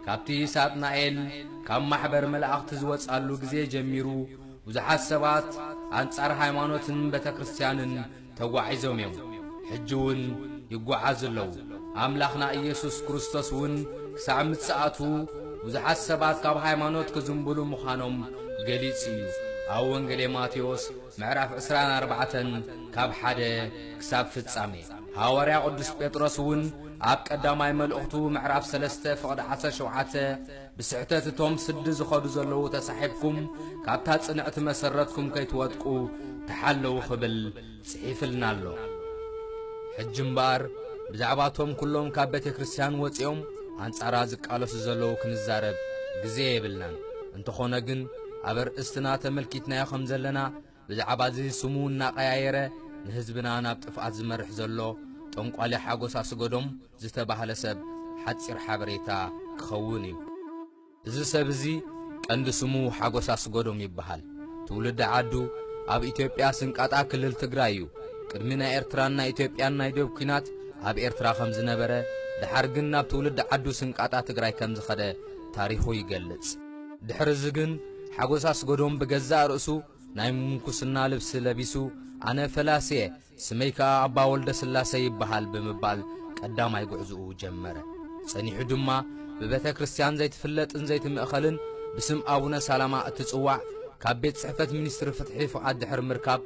ካብቲ ሳጥናኤል ካብ ማሕበር መላእኽቲ ዝወጻሉ ግዜ ጀሚሩ ብዙሓት ሰባት ኣንጻር ሃይማኖትን ቤተ ክርስቲያንን ተጓዒዞም እዮም። ሕጂ እውን ይጓዓዙ ኣለዉ። ኣምላኽና ኢየሱስ ክርስቶስ እውን ክሳዕ ምጽኣቱ ብዙሓት ሰባት ካብ ሃይማኖት ክዝንብሉ ምዃኖም ገሊጹ እዩ። ኣብ ወንጌል ማቴዎስ ምዕራፍ ዕስራን ኣርባዕተን ካብ ሓደ ክሳብ ፍጻሜ። ሃዋርያ ቅዱስ ጴጥሮስ እውን ኣብ ቀዳማይ መልእኽቱ ምዕራፍ ሰለስተ ፍቕዲ ዓሰርተ ሸውዓተ ብስሕተት እቶም ስዲ ዝኸዱ ዘለዉ ተሳሒብኩም ካብታ ጽንዕቲ መሰረትኩም ከይትወድቁ ተሓለዉ ክብል ጽሒፍልና ኣሎ። ሕጂ እምበኣር ብዛዕባ እቶም ኩሎም ካብ ቤተ ክርስቲያን ወጺኦም ኣንጻራ ዝቃለሱ ዘለዉ ክንዛረብ ግዜ የብልናን። እንተኾነ ግን ኣብ ኣርእስትና ተመልኪትናዮ ከም ዘለና ብዛዕባ እዚ ስሙ እናቐያየረ ንህዝብና ናብ ጥፍኣት ዝመርሕ ዘሎ ጠንቋሊ ሓጎስ ኣስገዶም ዝተባህለ ሰብ ሓጺር ሓበሬታ ክኸውን እዩ። እዚ ሰብ እዚ ቀንዲ ስሙ ሓጎስ ኣስገዶም ይበሃል። ትውልዲ ዓዱ ኣብ ኢትዮጵያ ስንቃጣ ክልል ትግራይ እዩ። ቅድሚ ናይ ኤርትራን ናይ ኢትዮጵያን ናይ ዶብ ኲናት ኣብ ኤርትራ ከም ዝነበረ፣ ደሓር ግን ናብ ትውልዲ ዓዱ ስንቃጣ ትግራይ ከም ዝኸደ ታሪኹ ይገልጽ። ድሕሪ እዚ ግን ሓጎስ ኣስገዶም ብገዛእ ርእሱ ናይ ምንኩስና ልብሲ ለቢሱ፣ "ኣነ ፈላሲ እየ፣ ስመይ ከኣ ኣባ ወልደ ስላሴ ይበሃል" ብምባል ቀዳማይ ጉዕዝኡ ጀመረ። ጸኒሑ ድማ ብቤተ ክርስቲያን ዘይትፍለጥን ዘይትምእኸልን ብስም ኣቡነ ሰላማ እትጽዋዕ፣ ካብ ቤት ጽሕፈት ሚኒስትሪ ፍትሒ ፍቓድ ድሕሪ ምርካብ፣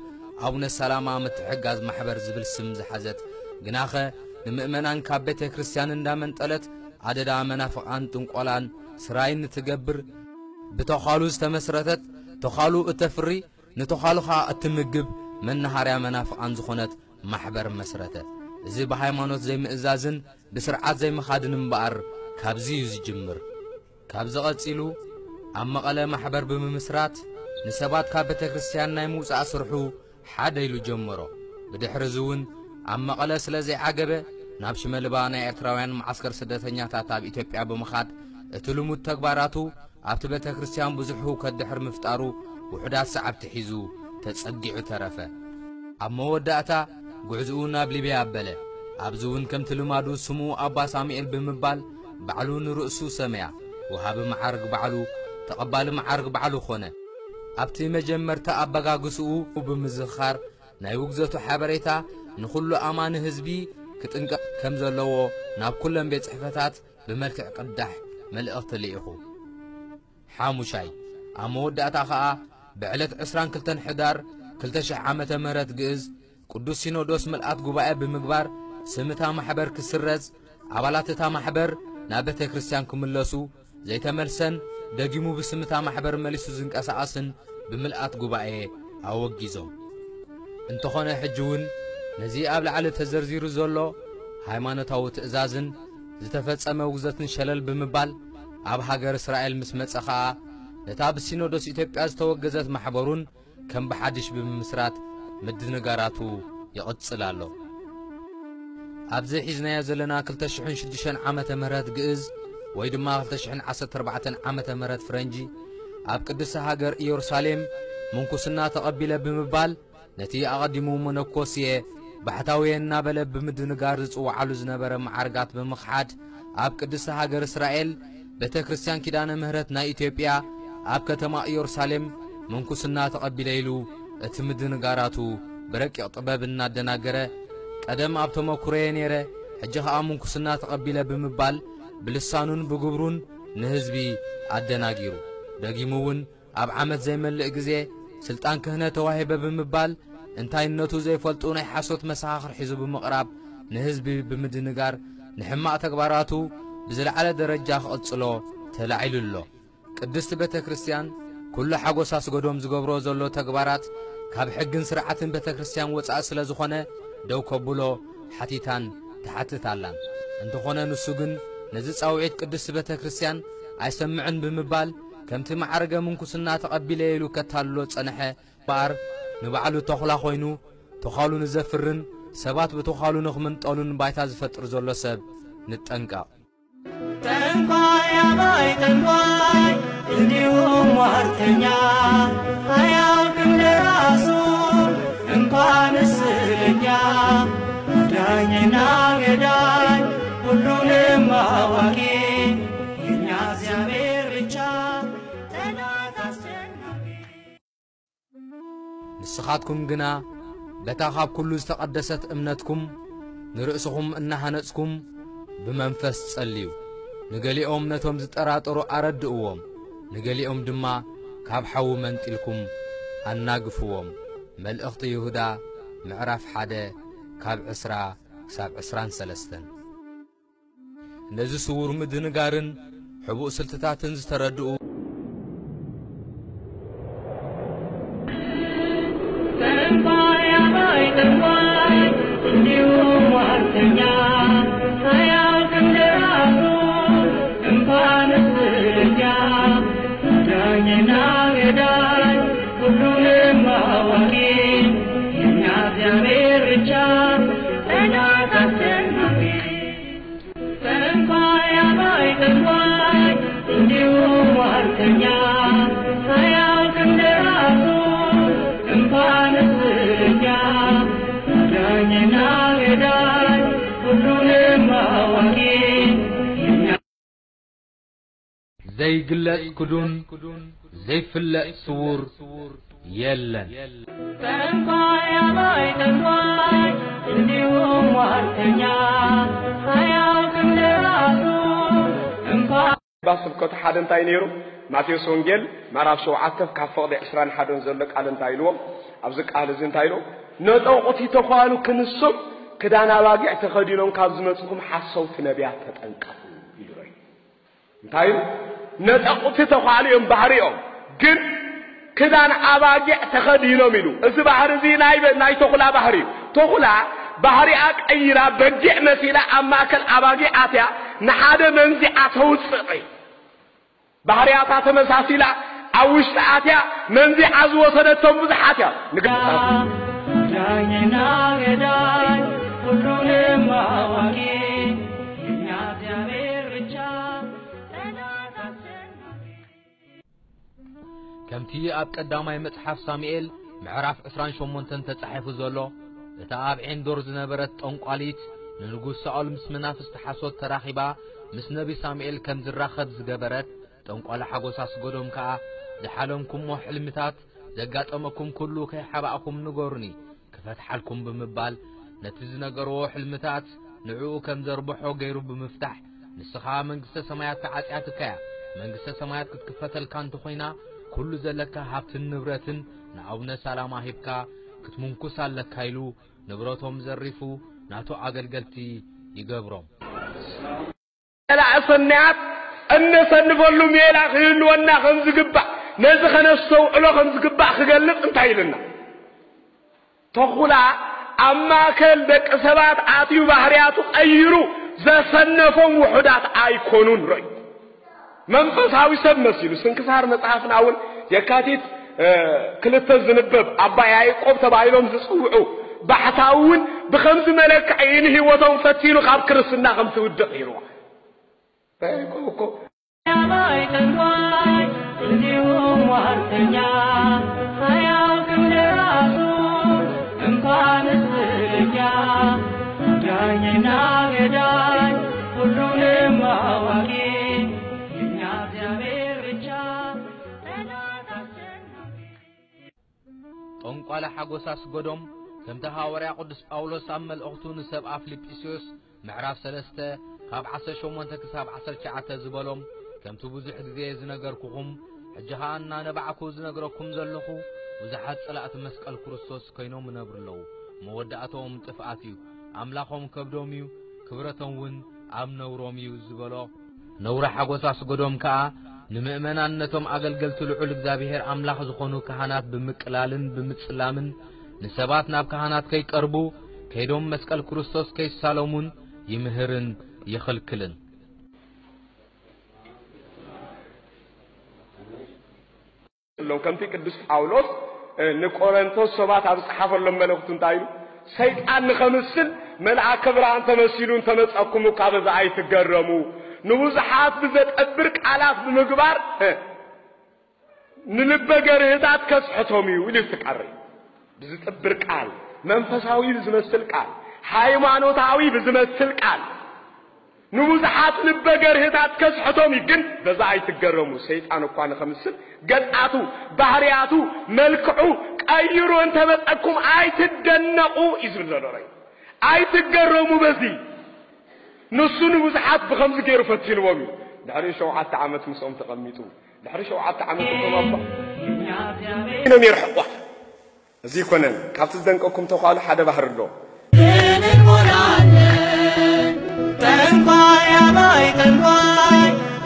ኣቡነ ሰላማ ምትሕግጋዝ ማሕበር ዝብል ስም ዝሓዘት፣ ግናኸ ንምእመናን ካብ ቤተ ክርስቲያን እንዳመንጠለት ኣደዳ መናፍቓን ጥንቆላን ስራይን እትገብር፣ ብተዃሉ ዝተመስረተት፣ ተዃሉ እተፍሪ፣ ንተዃሉ ኸኣ እትምግብ መናሃርያ መናፍቓን ዝኾነት ማሕበር መስረተ። እዚ ብሃይማኖት ዘይምእዛዝን ብስርዓት ዘይምኻድን እምበኣር ካብዚ እዩ ዝጅምር። ካብዚ ቐጺሉ ኣብ መቐለ ማሕበር ብምምስራት ንሰባት ካብ ቤተ ክርስቲያን ናይ ምውጻእ ስርሑ ሓደ ኢሉ ጀመሮ። ብድሕሪ እዚ እውን ኣብ መቐለ ስለ ዘይዓገበ ናብ ሽመልባ ናይ ኤርትራውያን መዓስከር ስደተኛታት ኣብ ኢትዮጵያ ብምኻድ እቲ ልሙድ ተግባራቱ ኣብቲ ቤተ ክርስቲያን ብዙሕ ህውከት ድሕሪ ምፍጣሩ ውሑዳት ሰዓብቲ ሒዙ ተጸጊዑ ተረፈ። ኣብ መወዳእታ ጉዕዝኡ ናብ ሊብያ ኣበለ። ኣብዚ እውን ከምቲ ልማዱ ስሙ ኣባ ሳሙኤል ብምባል ባዕሉ ንርእሱ ሰመያ። ወሃቢ መዓርግ ባዕሉ፣ ተቐባሊ መዓርግ ባዕሉ ኾነ። ኣብቲ መጀመርታ ኣበጋግስኡ ብምዝኽኻር ናይ ውግዘቱ ሓበሬታ ንኹሉ ኣማኒ ህዝቢ ክጥንቀቕ ከም ዘለዎ ናብ ኩለን ቤት ጽሕፈታት ብመልክዕ ቅዳሕ መልእኽቲ ልኢኹ። ሓሙሻይ፣ ኣብ መወዳእታ ኸኣ ብዕለት ዕስራን ክልተን ሕዳር ክልተ ሽሕ ዓመተ ምህረት ግእዝ ቅዱስ ሲኖዶስ ምልኣት ጉባኤ ብምግባር ስም እታ ማሕበር ክስረዝ፣ ኣባላት እታ ማሕበር ናብ ቤተ ክርስቲያን ክምለሱ፣ ዘይተመልሰን ደጊሙ ብስም እታ ማሕበር መሊሱ ዝንቀሳቐስን ብምልኣት ጉባኤ ኣወጊዞም። እንተኾነ ሕጂ እውን ነዚ ኣብ ላዕሊ ተዘርዚሩ ዘሎ ሃይማኖታዊ ትእዛዝን ዝተፈጸመ ውግዘትን ሸለል ብምባል ኣብ ሃገር እስራኤል ምስ መጸ ኸኣ ነታ ብሲኖዶስ ኢትዮጵያ ዝተወገዘት ማሕበሩን ከም ብሓድሽ ብምምስራት ምድንጋራቱ ይቕጽል ኣሎ። ኣብዚ ሒዝናዮ ዘለና ክልተ ሽሕን ሽዱሽተን ዓመተ ምህረት ግእዝ ወይ ድማ ክልተ ሽሕን ዓሰርተ ኣርባዕተን ዓመተ ምህረት ፍረንጂ ኣብ ቅድስቲ ሃገር ኢየሩሳሌም ምንኩስና ተቐቢለ ብምባል ነቲ ኣቐዲሙ መነኮስየ ባሕታውየ እናበለ ብምድንጋር ዝጽውዓሉ ዝነበረ መዓርጋት ብምኽሓድ ኣብ ቅድስቲ ሃገር እስራኤል ቤተ ክርስቲያን ኪዳነ ምህረት ናይ ኢትዮጵያ ኣብ ከተማ ኢየሩሳሌም ምንኩስና ተቐቢለ ኢሉ እቲ ምድንጋራቱ ብረቂቕ ጥበብ እናደናገረ፣ ቀደም ኣብ ተመኩሮየ ነይረ፣ ሕጂ ኸኣ ምንኩስና ተቐቢለ ብምባል ብልሳኑን ብግብሩን ንህዝቢ ኣደናጊሩ። ደጊሙ እውን ኣብ ዓመት ዘይመልእ ግዜ ስልጣን ክህነት ተዋሂበ ብምባል እንታይነቱ ዘይፈልጡ ናይ ሓሶት መሰኻኽር ሒዙ ብምቕራብ ንህዝቢ ብምድንጋር ንሕማቕ ተግባራቱ ብዝለዓለ ደረጃ ክቕጽሎ ተላዒሉ ኣሎ። ቅድስቲ ቤተ ክርስቲያን ኩሉ ሓጎስ ኣስገዶም ዝገብሮ ዘሎ ተግባራት ካብ ሕግን ስርዓትን ቤተ ክርስቲያን ወጻኢ ስለ ዝኾነ ደው ከብሎ ሓቲታን ትሓትት ኣላን። እንተኾነ ንሱ ግን ነዚ ጻውዒት ቅድስቲ ቤተ ክርስቲያን ኣይሰምዕን ብምባል ከምቲ ማዕርገ ምንኩስና ተቐቢለ ኢሉ ከታልሎ ጸንሐ እምበኣር ንባዕሉ ተኹላ ኮይኑ ተዃሉ ንዘፍርን ሰባት ብተዃሉ ንኽምንጠሉን ባይታ ዝፈጥር ዘሎ ሰብ ንጠንቀቕ። ጠንቋይ ኣባይ ጠንቋይ እንዲሁም ሟርተኛ አያውቅም ለራሱ እንኳን ስለኛ ዳኝና ገዳይ ሁሉንም አዋቂ የኛ ንስኻትኩም ግና በታ ካብ ኩሉ ዝተቐደሰት እምነትኩም ንርእስኹም እናሃነጽኩም ብመንፈስ ጸልዩ። ንገሊኦም ነቶም ዝጠራጠሩ ኣረድእዎም፣ ንገሊኦም ድማ ካብ ሓዊ መንጢልኩም ኣናግፍዎም። መልእኽቲ ይሁዳ ምዕራፍ ሓደ ካብ ዕስራ ክሳብ ዕስራን ሰለስተን። ነዚ ስዉር ምድንጋርን ሕቡእ ስልትታትን ዝተረድኡ ዘይግለጽ ክዱን ዘይፍለጥ ስዉር የለን። ጠንቋይ ኣባይ ጠንቋይ እንዲሁም ሟርተኛ ኣያውቅም ለራሱ እንኳን እባ ስብከቱ ሓደ እንታይ ነይሩ? ማቴዎስ ወንጌል ምዕራፍ ሸውዓተ ካብ ፍቕዲ ዕስራን ሓደን ዘሎ ቃል እንታይ ኢልዎም? ኣብዚ ቃል እዚ እንታይ ኢልዎም? ነጠቑቲ ተዃሉ ክንሶም ክዳን ኣባጊዕ ተኸዲኖም ካብ ዝመጽኹም ሓሰውቲ ነቢያት ተጠንቀቑ ኢሉ። እንታይ ኢሉ? ነጠቑቲ ተዃሉ እዮም ባህሪኦም፣ ግን ክዳን ኣባጊዕ ተኸዲኖም ኢሉ። እዚ ባህሪ እዚ ናይ በ-፣ ናይ ተኹላ ባህሪ እዩ። ተኹላ ባህሪኣ ቀይራ በጊዕ መሲላ ኣብ ማእከል ኣባጊዕ ኣትያ ንሓደ መንዚዓ ተውጽእ። ባህርያታ ተመሳሲላ ኣብ ውሽጢ ኣትያ መንዚዓ ዝወሰደቶም ብዙሓት እያ። ንግ- ዳኝና ገዳይ ሁሉንም አዋቂ የእኛ እግዚአብሔር ብቻ። ከምቲ ኣብ ቀዳማይ መጽሓፍ ሳሙኤል ምዕራፍ ዕስራን ሸሞንተን ተጻሒፉ ዘሎ፣ እታ ኣብ ዔንዶር ዝነበረት ጠንቋሊት ንንጉስ ሳኦል ምስ መናፍስቲ ሓሶት ተራኺባ ምስ ነቢ ሳሙኤል ከም ዝራኸብ ዝገበረት፣ ጠንቋሊ ሓጎስ ኣስገዶም ከኣ፣ ዝሓለምኩሞ ሕልምታት፣ ዘጋጠመኩም ኩሉ ከይሓባእኩም ንገሩኒ፣ ክፈትሓልኩም ብምባል፣ ነቲ ዝነገርዎ ሕልምታት ንዕኡ ከም ዘርብሖ ገይሩ ብምፍታሕ፣ ንስኻ መንግስተ ሰማያት ተዓጽያትካ እያ፣ መንግስተ ሰማያት ክትክፈተልካ እንተኾይና፣ ኩሉ ዘለካ ሃብትን ንብረትን ንኣቡነ ሰላማ ሂብካ ክትምንኩስ ኣለካ ኢሉ፣ ንብረቶም ዘሪፉ ናቱ ኣገልገልቲ ይገብሮም። ጸላኢ ሰናያት እነሰንፈሉ ሜላ ክህልወና ከም ዝግባእ፣ ነዚ ከነስተውዕሎ ከም ዝግባእ ክገልጽ እንታይ ኢልና? ተኹላ ኣብ ማእከል ደቂ ሰባት ኣትዩ ባህርያቱ ቀይሩ ዘሰነፎም ውሑዳት ኣይኮኑን። ርእዩ መንፈሳዊ ሰብ መሲሉ ስንክሳር መጽሓፍና እውን የካቲት፣ እ፣ ክልተ ዝንበብ ኣባ ያዕቆብ ተባሂሎም ዝጽውዑ ባሕታዊ እውን ብኸምዚ መለክዒ ንህይወቶም ፈቲኑ ካብ ክርስትና ከም ትውድቕ ይርዋ። ያዕቆብ እኮ ጠንቋይ እንዲሁም ሟርተኛ፣ አያውቅም ለራሱ እንኳንስ ለኛ። ዳኝና ገዳይ ሁሉንም አዋቂ የእኛ እግዚአብሔር ብቻ። ጠንቋሊ ሓጎስ ኣስገዶም፣ ከምቲ ሃዋርያ ቅዱስ ጳውሎስ ኣብ መልእኽቱ ንሰብኣ ፊልጵስዩስ ምዕራፍ ሰለስተ ካብ ዓሰርተ ሸሞንተ ክሳብ ዓሰርተ ትሽዓተ ዝበሎም፣ ከምቲ ብዙሕ ግዜ ዝነገርኩኹም፣ ሕጂ ኸኣ እናነባዕኩ ዝነግረኩም ዘለኹ፣ ብዙሓት ጸላእቲ መስቀል ክርስቶስ ኮይኖም ይነብሩ ኣለዉ። መወዳእታኦም ጥፍኣት እዩ። ኣምላኾም ከብዶም እዩ፣ ክብረቶም እውን ኣብ ነውሮም እዩ ዝበሎ፣ ነውሪ ሓጎስ ኣስገዶም ከኣ፣ ንምእመናን ነቶም ኣገልገልቲ ልዑል እግዚኣብሔር ኣምላኽ ዝኾኑ ካህናት ብምቅላልን ብምጽላምን፣ ንሰባት ናብ ካህናት ከይቀርቡ፣ ከይዶም መስቀል ክርስቶስ ከይሳለሙን ይምህርን ይኽልክልን። ሎም ከምቲ ቅዱስ ጳውሎስ፣ እ፣ ንቆረንቶስ ሰባት ኣብ ዝጸሓፈሎም መልእኽቱ እንታይ ኢሉ? ሰይጣን ንኸምስል መልኣከ ብርሃን ተመሲሉ እንተመጸኩም እኳ በዛ ኣይትገረሙ። ንብዙሓት ብዘጠብር ቃላት ብምግባር፣ እ፣ ንልበ ገርህታት ከስሕቶም እዩ ኢሉ ይፍቀሪ። ብዝጥብር ቃል፣ መንፈሳዊ ብዝመስል ቃል፣ ሃይማኖታዊ ብዝመስል ቃል፣ ንብዙሓት ልበ ገርህታት ከስሕቶም እዩ። ግን በዛ ኣይትገረሙ። ሰይጣን እኳ ንኸምስል ገጻቱ፣ ባህርያቱ፣ መልክዑ፣ ቀይሩ እንተመጸኩም ኣይትደነቑ እዩ ዝብል ዘሎ ራእይ። ኣይትገረሙ በዚ። ንሱ ንብዙሓት ብኸምዚ ገይሩ ፈቲንዎም እዩ። ድሕሪ ሸውዓተ ዓመት ምስኦም ተቐሚጡ። ድሕሪ ሸውዓተ ዓመት እቶም ኣባ ኢኖም የርሕቋ። እዚ ይኮነን። ካብቲ ዝደንቀኩም ተኳሉ ሓደ ባህሪ ኣሎ። ጠንቋይ ኣባይ ጠንቋይ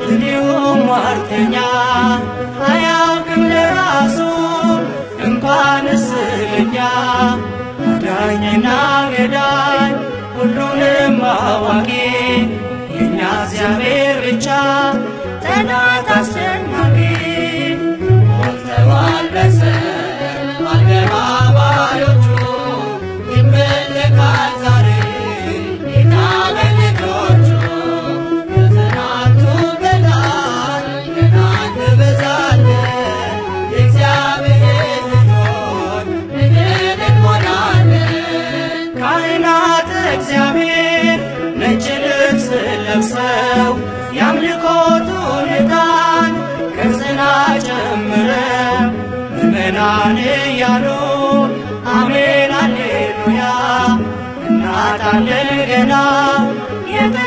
እንዲሁም ሟርተኛ አያውቅም ለራሱ እንኳን ስለኛ። አዳኝና ገዳይ ሁሉንም አዋቂ የኛ እግዚአብሔር ብቻ ጠላት አስጨናቂ። ሞልተዋል በሰማይ አደባባዮቹ ይመለካል ዛሬ ጌታ በልጆቹ። ከትናንቱ በላይ ገና እንበዛለን። የእግዚአብሔር ልጆች ነገን እንሞላለን። ካህናት እግዚአብሔር ነጭ ልብስ ለብሰው የአምልኮቱን ዕጣን ከጽና ጨምረው ምዕመናን እያሉ አሜን አሌሉያ እናጣለን ገና የተ